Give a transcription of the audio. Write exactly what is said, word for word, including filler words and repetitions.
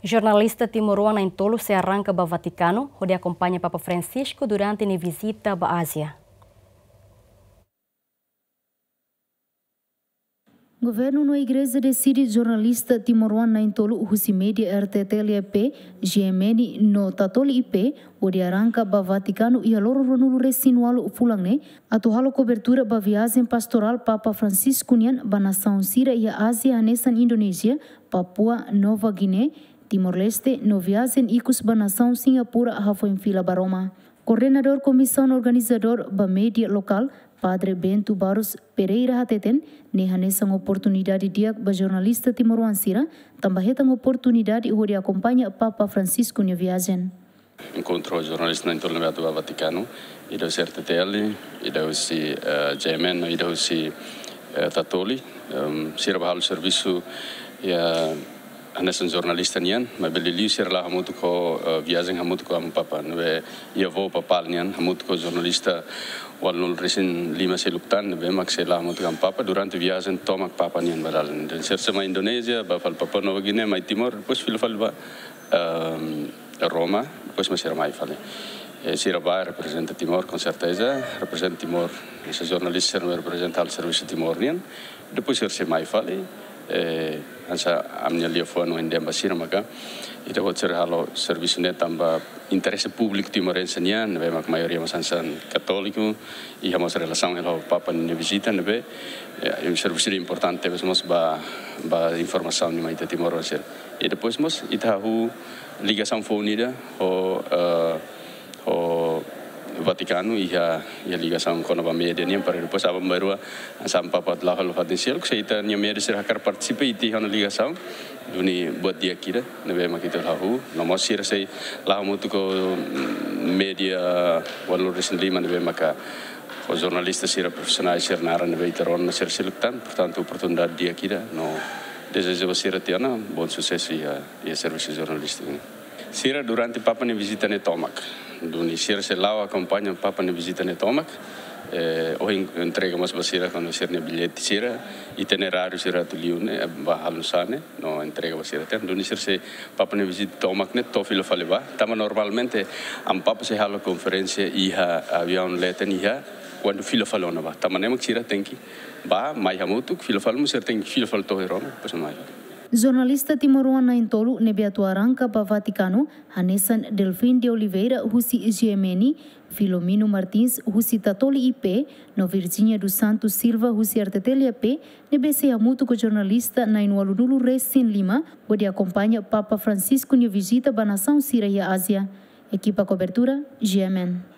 Jornalista timoroan na'in-tolu sei arranka ba Vatikanu, hodi akompaña Papa Francisco durante nia vizita ba Ázia. Governu no Igreja deside jornalista timoroan na'in-tolu husi média R T T L E P, G M N no Tatoli I P, hodi arranka ba Vatikanu iha loron ruanulu-resin-ualu fulan ne'e, atu halo kobertura ba viajen pastorál Papa Francisco nian ba nasaun sira iha Ázia hanesan Indonézia, Papua Nova Guiné, Timor-Leste, no viajen ikus ba nasaun Singapura hafoin fila ba Roma. Koordenadór komisaun organizadór ba média lokál, Padre Bento Barros Pereira hateten, ne'e hanesan oportunidade di'ak ba jornalista timoroan sira, tanba hetan oportunidade hodi akompaña Papa Francisco nia viajen. Enkontru jornalista na'in-tolu ne'ebé atu ba Vatikanu, ida husi R T T L, ida husi, eh, G M N, ida husi, eh, Tatoli, em, sira bá halo servisu iha hanesan jornalista nian, maibé liuliu sira la'o hamutuk ho, eh, viajen hamutuk ho Amu Papa, ne'ebé iha voo papál nian, hamutuk ho jornalista ualunulu-resin-lima seluk tan, ne'ebé mak sei la'o hamutuk ho Amu Papa durante viajen tomak Papa nian ba dalan. Dehan sira sei mai Indonézia, bá fali Papua Nova Guiné, mai Timor, depois fila fali ba, ehm, Roma, depois mak sira mai fali. Eh, sira bá reprezenta Timor, com certeza, reprezenta Timor, hanesan jornalista sira reprezenta halo servisu Timor nian, depois sira sei mai fali, eh, hanesan ami-nia liafuan ohin dehan ba sira maka, ita-boot sira halo servisu ne'e tanba interese públiku timorense nian, ne'ebé mak maioria mós hanesan katóliku, iha mós relasaun ho Papa nia vizita ne'ebé, eh, servisu ne'e importante tebes mós ba, ba informasaun nian mai ita timoroan sira. I depois mós ita hahú ligasaun foun ida ho, eh, ho Vatikanu iha, iha ligasaun kona-ba média nian, para depois aban-bainrua hanesan Papa la'o halo fatin seluk, se ita-nia média sira hakarak partisipa, ita iha ona ligasaun, duni buat di'ak ida ne'ebé mak ita hahú, no mós sira sei la'o hamutuk ho, mm, média ualunulu-resin-lima ne'ebé maka ho jornalista sira profisionál sira naran ne'ebé ita rona sira seluk tan, portantu oportunidade di'ak ida, no dezeja ba sira tiha ona bom susesu iha, iha servisu jornalístiku nian. Sira durante Papa nia vizita ne'e tomak. Duni sira sei la'o akompaña Papa nia vizita ne'e tomak. Eh, ohin entrega mós ba sira kona-ba sira-nia billete sira, itineráriu sira atu liu ne'e, eh, bá halo nu'usá ne'e, no entrega ba sira tan. Duni sira sei Papa nia vizita tomak ne'e to'o fila fali bá. Tanba normalmente Amu Papa sei halo konferénsia iha aviaun leten iha kuandu fila fali ona bá. Tanba ne'e mak sira tenke bá, mai hamutuk, fila fali mós sira tenke fila fali to'o Roma, depois mai fali. Jornalista timoroan na'in-tolu ne'ebé atu arranka ba Vatikanu, hanesan Delfim de Oliveira husi G M N, Filomeno Martins husi Tatoli I P, no Virginia dos Santos Silva husi R T T L E P, ne'ebé sei hamutuk ho jornalista na'in-ualunulu-resin-lima, hodi akompaña Papa Francisco nia vizita ba nasaun sira iha Ázia. Ekipa kobertura, G M N.